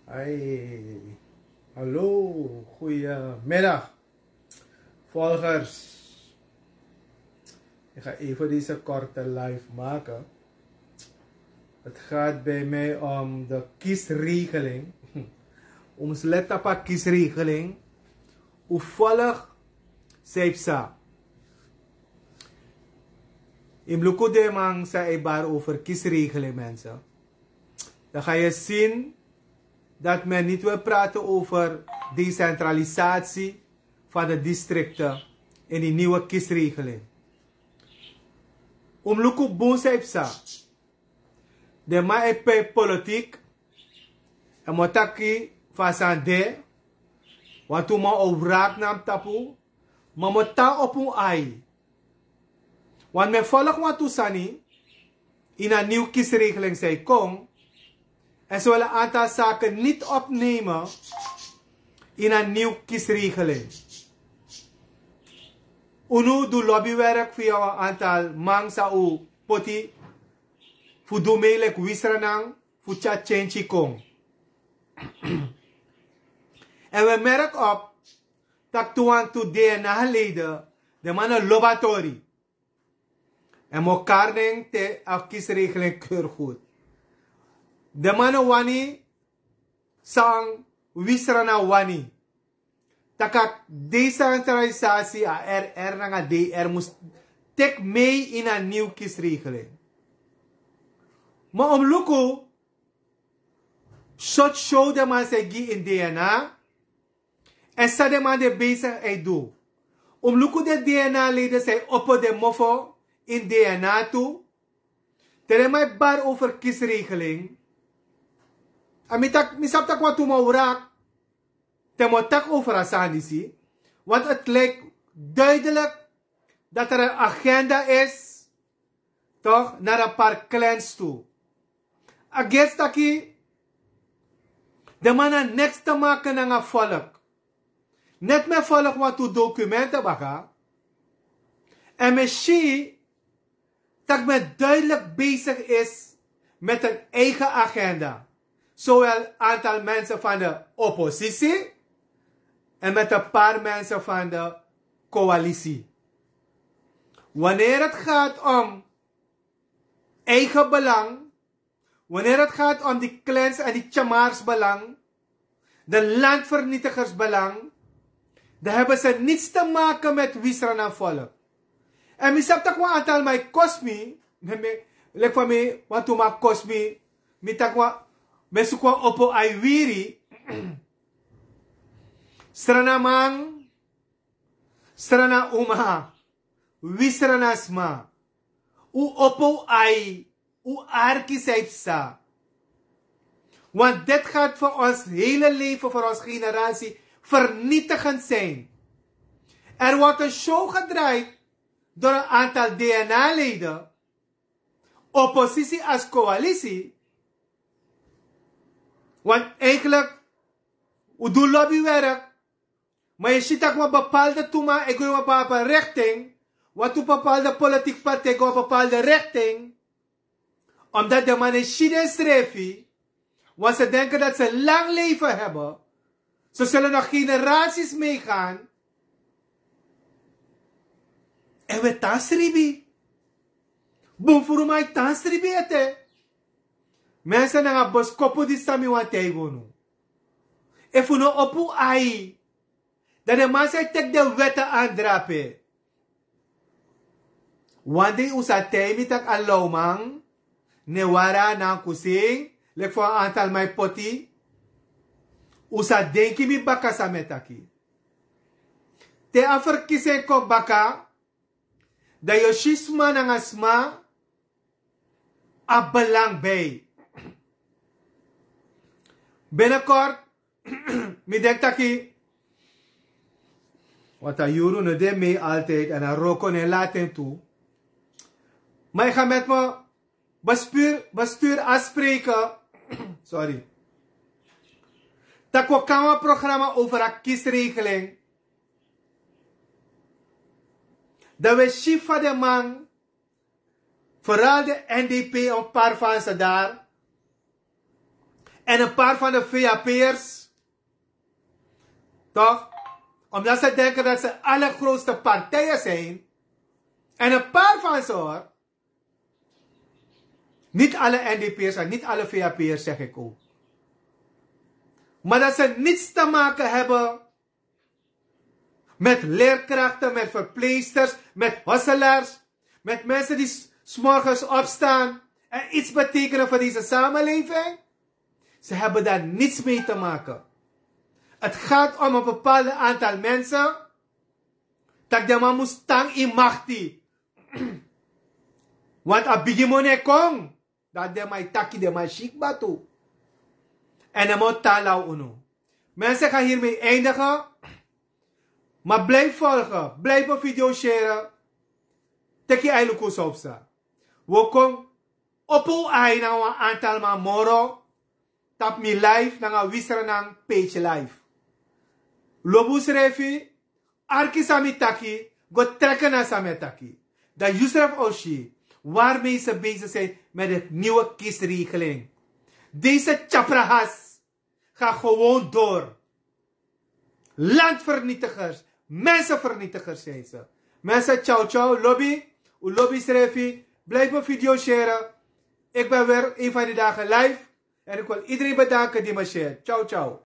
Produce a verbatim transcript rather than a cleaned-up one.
Hey, hallo, goedemiddag, volgers. Ik ga even deze korte live maken. Het gaat bij mij om de kiesregeling. Om sleta pa kiesregeling. U volg Seipsa. In Bluku de man zei bar over kiesregeling, mensen. Dan ga je zien dat men niet wil praten over decentralisatie van de districten in die nieuwe kiesregeling. Omluku bun sa ipsa. De man e pe politik. En motaki fasande. Wantu man o wraak nam tapu. Ma mo tan op un ai. Want men volg wantu sani in a nieuw kiesregeling zij kon. En ze willen een aantal zaken niet opnemen in een nieuw kiesregeling. Unu du lobbywerk via een aantal man sa u poti fu du melik wisranang fu tya change kon. En we merk op tak tu wantu DNA leden de man no lobatori. En mo karning te a kiesregeling keur goed. De man no wani san wisra na wani. Taka decentralisatie a R R nanga D R mus tek mee in a nieuw kiesregeling. Ma om luku sot show de man se gi in DNA. En san de man de bezig e du. Om luku de DNA leden zijn opo de mofo in DNA tu. Te de man e bar over kiesregeling. En mi tak mi sap tak wantu mo wraak. Te mo tak over a sani disi. Want het lijkt duidelijk dat er een agenda is toch naar een paar clans tu. A gestaki de man na niks te maken nanga volk. Net men volg wantu documenten baka. En men si tak men duidelijk bezig is met een eigen agenda. Zowel aantal mensen van de oppositie en met een paar mensen van de coalitie. Wanneer het gaat om eigen belang, wanneer het gaat om die clans en die tjamars belang, de landvernietigers belang, dan hebben ze niets te maken met wisra na volk. En mi sap tak wan aantal mai kosmi, lek fa mi wantu ma kosmi, mi tak wan, mi suk wan opo ai wiri. Srana man, srana uma, wisra na sma. U opo u ai, u arki sa ipsa. Want dit gaat voor ons hele leven, voor ons generatie vernietigend zijn. Er wordt een show gedraaid door een aantal DNA-leden, oppositie als coalitie. Want eigenlijk, u doet lobbywerk. Maar je ziet dat we bepaalde toema, ik wil een bepaalde richting. Wat u bepaalde politieke partij, een bepaalde richting. Omdat de mannen shit en srefi, want ze denken dat ze lang leven hebben. Ze zullen nog generaties meegaan. En we tansribi. Bun furu mai tansribi ete. Mensen nanga boskopu di sami wan teigunu. Efu no opu ai. Dan de man sa e teki den wèt a andrape. Wan dei un sa taigi mi tak' a lawman, ne wara na kusin, leki fa wan antal man e poti. Un sa denki mi baka san mi e taki. Te a ferkisi en kon baka, dan yu o si sma nanga sma abi belang bij. Binnenkort, mi denk taki, want a yuru no de mee altijd en a roko no e laten tu. Maar ik ga met mijn bestuur, bestuur afspreken. Sorry. Tak' wi o kan wan programma over a kiesregeling. Dan wi e si fa den man, vooral de N D P, een paar van ze daar. En een paar van de V H P'ers, toch? Omdat ze denken dat ze allergrootste partijen zijn. En een paar van ze, hoor. Niet alle N D P'ers en niet alle V H P'ers, zeg ik ook. Maar dat ze niets te maken hebben met leerkrachten, met verpleegsters, met hostelaars, met mensen die s- 's morgens opstaan en iets betekenen voor deze samenleving. Ze hebben daar niets mee te maken. Het gaat om een bepaald aantal mensen. Dat de man moet staan in macht. Want a bigi moni e kon. Dan den man e taki, den man e si kba tu. En den man o tan law unu. Mensen, ga hiermee eindigen. Maar blijf volgen, blijf mijn video share. Teki ai luku san o psa. Wi o kon opo un ai nanga wan antal man moro tapu mi live nanga Wi Sranan page live. Lobi unsrefi, arki san mi taki, go treki na san mi e taki. Dan yusrefi o si waarmee ze bezig zijn met het nieuwe kiesregeling. Deze tjaprahas gaat gewoon door. Landvernietigers, mensenvernietigers zijn ze. Mensen, ciao ciao, lobi, un lobi srefi, blijf mijn video share. Ik ben weer een van die dagen live. En ik wil iedereen bedanken die me share. Ciao ciao.